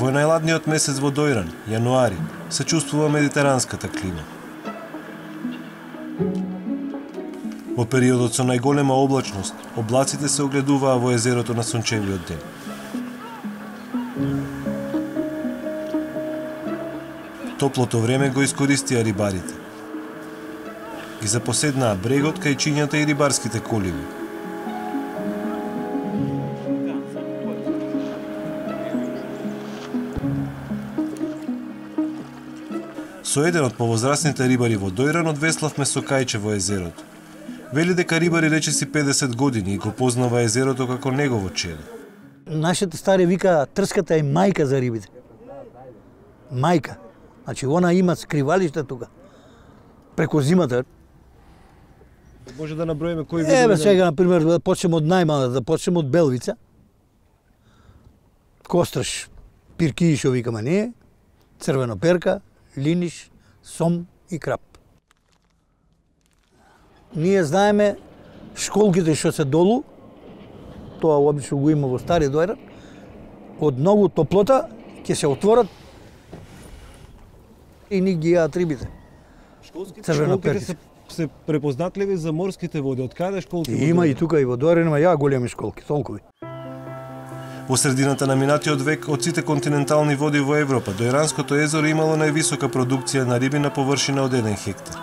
Во најладниот месец во Дојран, јануари, се чувствува медитеранската клима. Во периодот со најголема облачност, облаците се огледуваа во езерото на сончевиот ден. Топлото време го искористија рибарите. Ги запоседнаа брегот, кајчињата и рибарските коливи. Со еден од повозрасните рибари во Дојран одвеславме со кајче во езерото. Вели дека рибари речиси 50 години и го познава езерото како негово чело. Нашите стари вика трската е мајка за рибите. Мајка. Значи, она има скривалиште тука. Преку зимата. Може да наброиме кои видови? Еве сега, например, да почнем од најмала, да почнем од белвица. Костраш, пирки, шо викаме ние, црвеноперка, линиш, сом и крап. Ние знаеме школките што се долу, тоа обично го има во Стари Дојран, од многу топлота ќе се отворат и ни ги јаат рибите. Школките се препознатливи за морските води. Од каде школки? Има и тука и во Дојран има ја големи школки, толкови. Во средината на минатиот век, од сите континентални води во Европа, Дојранското езеро имало највисока продукција на риби на површина од 1 хектар.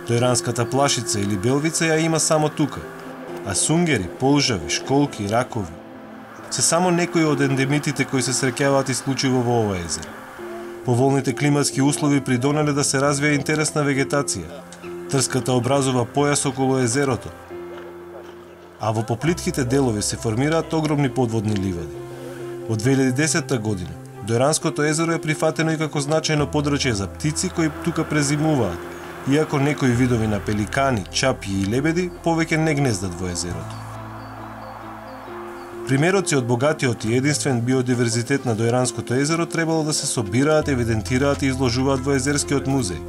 Дојранската плашица или белвица ја има само тука, а сунгери, полжави, школки и ракови се само некои од ендемитите кои се среќаваат исклучиво во ова езеро. Поволните климатски услови придонеле да се развија интересна вегетација. Трската образува појас околу езерото, а во поплитките делови се формираат огромни подводни ливади. Од 2010 година, Дојранското езеро е прифатено и како значајно подрачје за птици кои тука презимуваат, иако некои видови на пеликани, чапји и лебеди повеќе не гнездат во езерото. Примероци од богатиот и единствен биодиверзитет на Дојранското езеро требало да се собираат, евидентираат и изложуваат во Езерскиот музеј,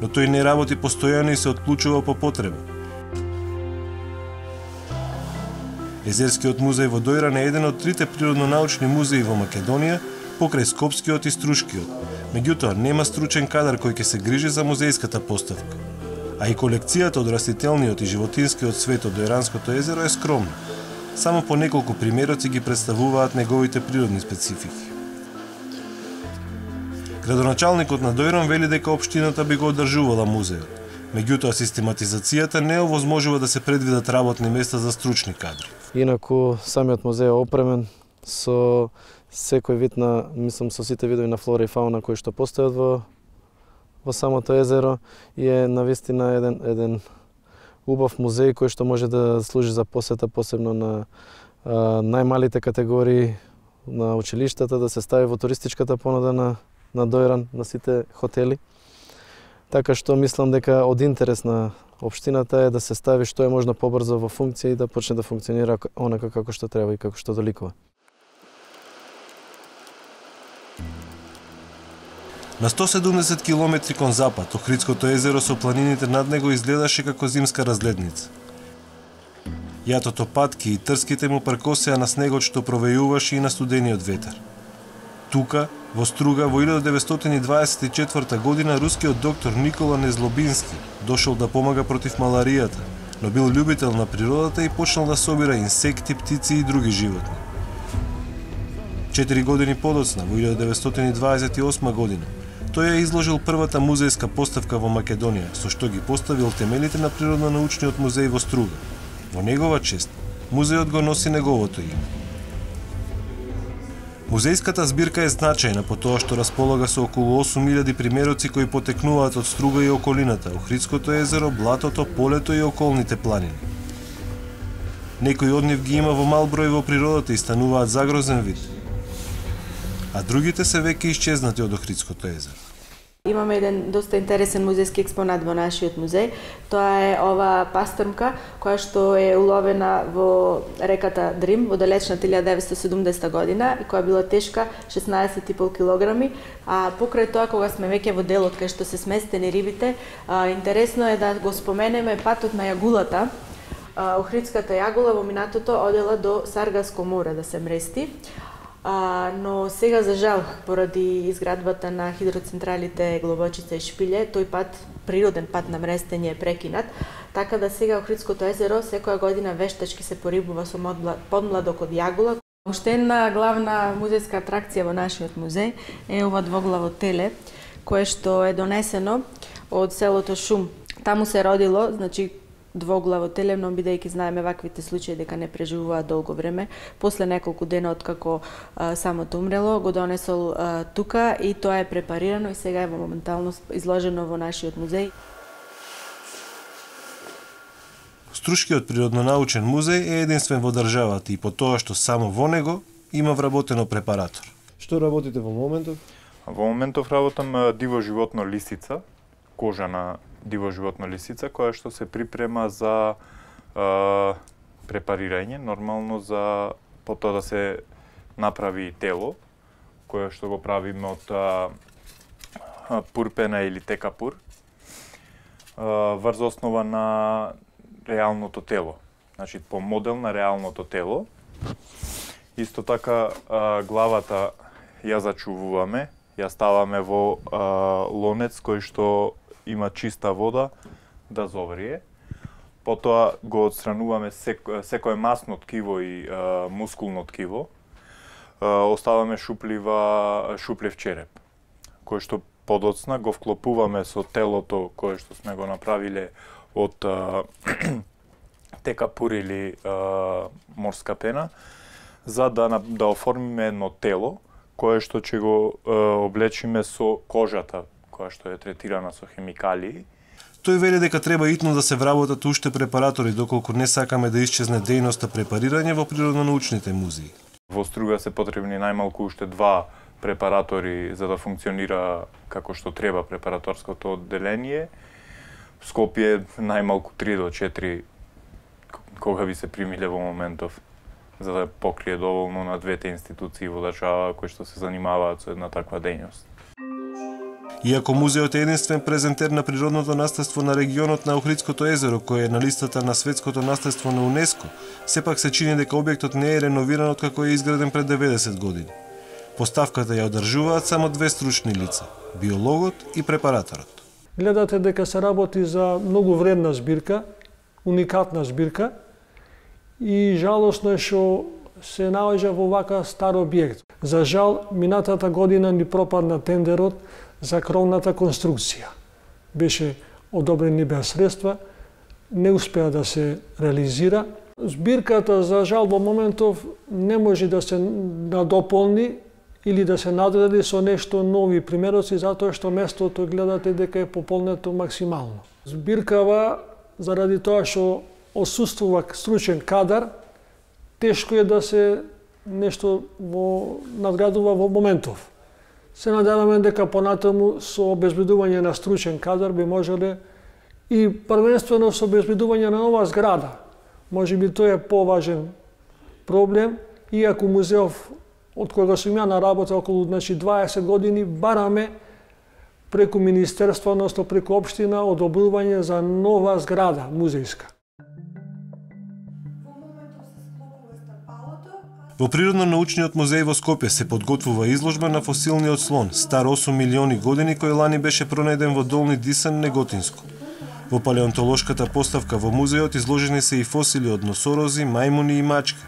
но тој не работи постојано и се отклучува по потреба. Езерскиот музеј во Дојран е еден од 3 природно-научни музеи во Македонија, покрај Скопскиот и Струшкиот. Меѓутоа, нема стручен кадар кој ќе се грижи за музејската поставка. А и колекцијата од растителниот и животинскиот свет од Дојранското езеро е скромна. Само по неколку примероци ги представуваат неговите природни специфики. Градоначалникот на Дојран вели дека општината би го одржувала музејот. Меѓутоа, систематизацијата не овозможува да се предвидат работни места за стручни кадри. Инаку, самиот музеј е опремен со секој вид на, мислам, со сите видови на флора и фауна кои што постојат во самото езеро и е навистина еден убав музеј кој што може да служи за посета, посебно на најмалите категории на училиштата, да се стави во туристичката понуда на Дојран, на сите хотели. Така што мислам дека од интерес на општината е да се стави што е можно побрзо во функција и да почне да функционира онака како што треба и како што доликува. На 170 километри кон запад, Охридското езеро со планините над него изгледаше како зимска разгледница. Јатото патки и трските му пркосеа на снегот што провејуваше и на студениот ветер. Тука, во Струга, во 1924 година, рускиот доктор Никола Незлобински дошол да помага против маларијата, но бил љубител на природата и почнал да собира инсекти, птици и други животни. 4 години подоцна, во 1928 година, тој ја изложил првата музејска поставка во Македонија, со што ги поставил темелите на Природно-научниот музеј во Струга. Во негова чест, музејот го носи неговото име. Музејската збирка е значајна по тоа што располага со околу 8000 примероци кои потекнуваат од Струга и околината, Охридското езеро, блатото, полето и околните планини. Некои од нив ги има во мал број во природата и стануваат загрозен вид, а другите се веќе исчезнати од Охридското езеро. Имаме еден доста интересен музејски експонат во нашиот музеј. Тоа е ова пастрмка која што е уловена во реката Дрим во далечната 1970 година и која била тешка 16,5 килограми. А покрај тоа, кога сме веќе во делот кај што се сместени рибите, интересно е да го споменеме патот на јагулата. Охридската јагула во минатото одела до Саргаско море да се мрести. Но сега за жал, поради изградбата на хидроцентралите Глобочица и Шпиле, тој пат, природен пат на мрестење е прекинат, така да сега Охридското езеро секоја година вештачки се порибува со подмладок од јагула. Уште една главна музејска атракција во нашиот музеј е ова двоглаво теле, кое што е донесено од селото Шум. Таму се родило, значи, двоглаво теле, но бидејќи знаеме ваквите случаи дека не преживуваат долго време, после неколку дена откако самото умрело, го донесол тука и тоа е препарирано и сега е моментално изложено во нашиот музеј. Струшкиот природно-научен музеј е единствен во државата и по тоа што само во него има вработено препаратор. Што работите во моментов? Во моментов работам диво животно лисица, кожана диво животно лисица, која што се припрема за препарирање, нормално за потоа да се направи тело, кое што го правиме од пурпена или текапур, врз основа на реалното тело. Значи, по модел на реалното тело. Исто така, главата ја зачувуваме, ја ставаме во лонец кој што има чиста вода да зоврие. Потоа го отстрануваме секое масно ткиво и мускулно ткиво. Оставаме шуплив череп, кој што подоцна го вклопуваме со телото кое што сме го направиле од текапур или морска пена, за да оформиме едно тело кое што ќе го облечиме со кожата, која што е третирана со хемикалии. Тој вели дека треба итно да се вработат уште препаратори, доколку не сакаме да исчезне дејноста препарирање во природно-научните музеи. Во Струга се потребни најмалку уште 2 препаратори за да функционира како што треба препараторското одделение. В Скопје најмалку 3 до 4 кога би се примиле во моментов, за да покрие доволно на двете институции во држава кои што се занимаваат со една таква дејност. Иако музеот е единствен презентер на природното наследство на регионот на Охридското езеро, кој е на листата на светското наследство на УНЕСКО, сепак се чини дека објектот не е реновиран откако е изграден пред 90 години. Поставката ја одржуваат само 2 стручни лица – биологот и препараторот. Гледате дека се работи за многу вредна збирка, уникатна збирка и жалосно е што се наоѓа во вака стар објект. За жал, минатата година ни пропадна тендерот за кровната конструкција. Беше одобрени беа средства, не успеа да се реализира. Збирката, за жал, во моментов не може да се надополни или да се надреди со нешто нови примероци, затоа што местото гледате дека е пополнето максимално. Збиркава, заради тоа што отсуствува стручен кадар, тешко е да се нешто надградува во моментов. Се надеваме дека понатаму со обезбедување на стручен кадар би можеле и првенствено со обезбедување на нова зграда. Можеби тоа е поважен проблем, иако музеов од кога сум ја на работа околу 20 години бараме преку министерство, односно преку општина, одобрување за нова зграда музејска. Во Природно-научниот музеј во Скопје се подготвува изложба на фосилниот слон, стар 8 милиони години, кој лани беше пронајден во Долни Дисан, Неготинско. Во палеонтолошката поставка во музеот изложени се и фосили од носорози, мајмуни и мачки.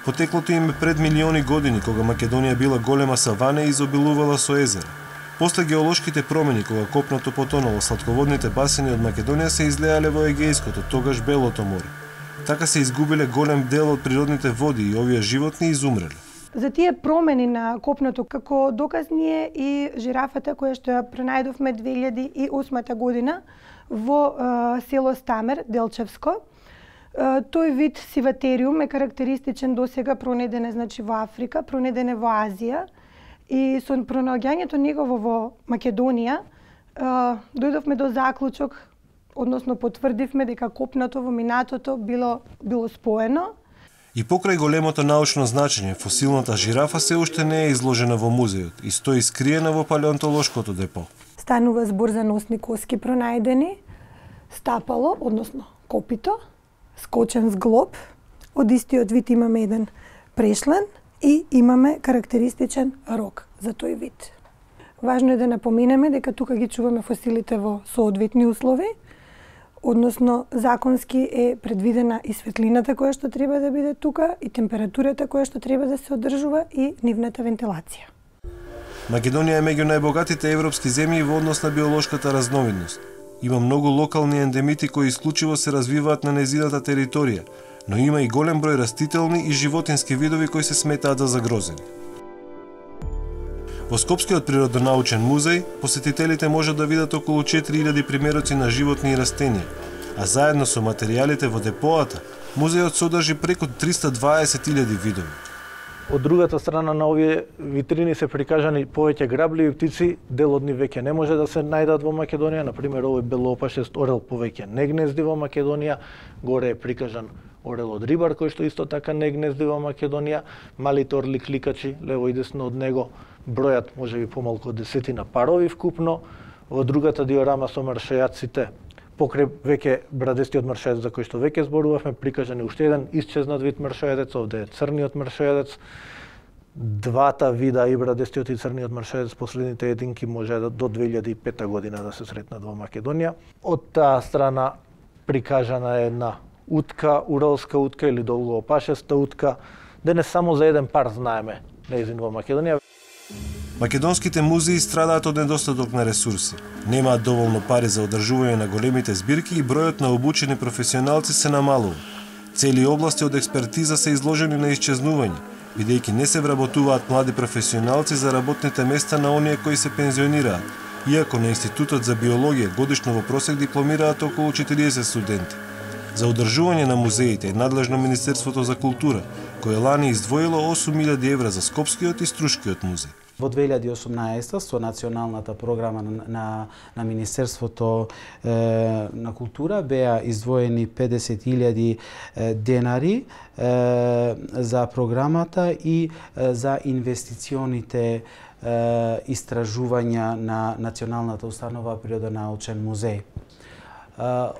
Потеклото им е пред милиони години, кога Македонија била голема савана и изобилувала со езера. После геолошките промени, кога копното потонало, сладководните басени од Македонија се излеале во Егејското, тогаш Белото море. Така се изгубиле голем дел од природните води и овие животни изумреле. За тие промени на копното, како доказ ни е и жирафата која што ја пронајдовме 2008 година во село Стамер, Делчевско. Тој вид сиватериум е карактеристичен досега, пронајден е значи во Африка, пронајден е во Азија и со пронаоѓањето негово во Македонија дојдовме до заклучок, односно потврдивме дека копното во минатото било споено. И покрај големото научно значење, фосилната жирафа се уште не е изложена во музеот и стои скриена во палеонтолошкото депо. Станува збор за носни коски пронајдени, стапало, односно копито, скочен зглоб, од истиот вид имаме еден прешлен и имаме карактеристичен рок за тој вид. Важно е да напоменеме дека тука ги чуваме фосилите во соодветни услови, односно законски е предвидена и светлината која што треба да биде тука, и температурата која што треба да се одржува и нивната вентилација. Македонија е меѓу најбогатите европски земји во однос на биолошката разновидност. Има многу локални ендемити кои исклучиво се развиваат на незината територија, но има и голем број растителни и животински видови кои се сметаат за загрозени. Во Скопскиот природонаучен музеј, посетителите можат да видат околу 4000 примероци на животни и растенија, а заедно со материјалите во депоата, музејот содржи преку 320.000 видови. Од другата страна на овие витрини се прикажани повеќе грабливи птици, дел од нив веќе не може да се најдат во Македонија, например овој белоопашест орел повеќе не гнезди во Македонија, горе е прикажан орелот рибар кој што исто така не гнезди во Македонија, малите орли кликачи лево и десно од него, бројат можеби помалку од 10 парови вкупно. Во другата диорама со маршајаците, покрај веќе брадестиот маршајец за кој што веќе зборувавме, прикажан е уште еден исчезнат вид маршајец, овде е црниот маршајец. Двата вида, и брадестиот и црниот маршајец, последните единки може до 2005 година да се сретнат во Македонија. Од таа страна прикажана е една утка, уралска утка или долгоопашеста утка. Денес само за еден пар знаеме нејзин во Македонија. Македонските музеи страдаат од недостаток на ресурси. Немаат доволно пари за одржување на големите збирки и бројот на обучени професионалци се намалува. Цели области од експертиза се изложени на исчезнување, бидејќи не се вработуваат млади професионалци за работните места на оние кои се пензионираат, иако на Институтот за биологија годишно во просек дипломираат околу 40 студенти. За одржување на музеите е надлежно Министерството за култура, кое лани издвоило 8.000 евра за Скопскиот и Струшкиот музеј. Во 2018 со националната програма на Министерството на култура беа издвоени 50.000 денари за програмата и за инвестиционите истражувања на Националната установа Природонаучен музеј.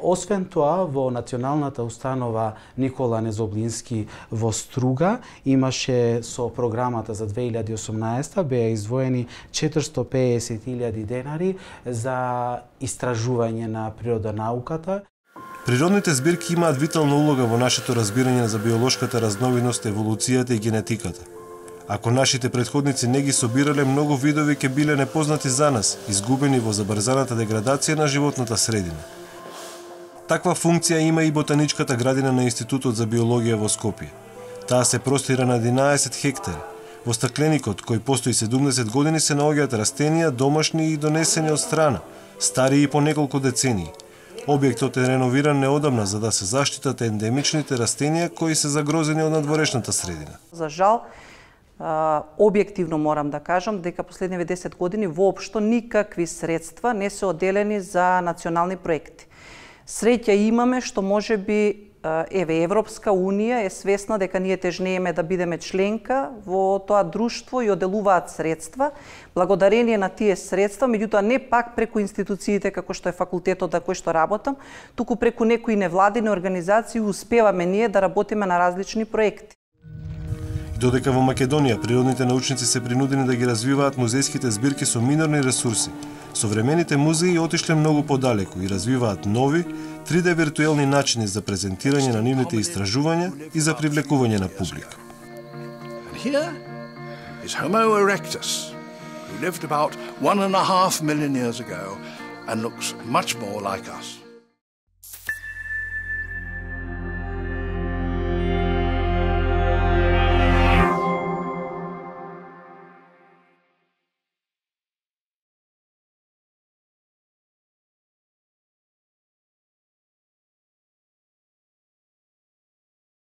Освен тоа, во Националната установа Никола Незоблински во Струга имаше со програмата за 2018 беа издвоени 450.000 денари за истражување на природонауката. Природните збирки имаат витална улога во нашето разбирање за биолошката разновидност, еволуцијата и генетиката. Ако нашите претходници не ги собирале, многу видови ќе биле непознати за нас, изгубени во забрзаната деградација на животната средина. Таква функција има и ботаничката градина на Институтот за биологија во Скопје. Таа се простира на 11 хектари. Во стакленикот, кој постои 70 години, се наоѓаат растенија, домашни и донесени од страна, стари и по неколку децении. Објектот е реновиран неодамна за да се заштитат ендемичните растенија кои се загрозени од надворешната средина. За жал, објективно морам да кажам дека последниве 10 години воопшто никакви средства не се одделени за национални проекти. Среќа имаме што можеби Европска Унија е свесна дека ние тежнееме да бидеме членка во тоа друштво и одделуваат средства. Благодарение на тие средства, меѓутоа не пак преку институциите како што е факултетот на кој што работам, туку преку некои невладини организации успеваме ние да работиме на различни проекти. Додека во Македонија природните научници се принудени да ги развиваат музејските збирки со минорни ресурси, современите музеи отишле многу подалеку и развиваат нови, 3D виртуелни начини за презентирање на нивните истражувања и за привлекување на публика. Here is Homo erectus, who lived about 1.5 million years ago and looks much more like us.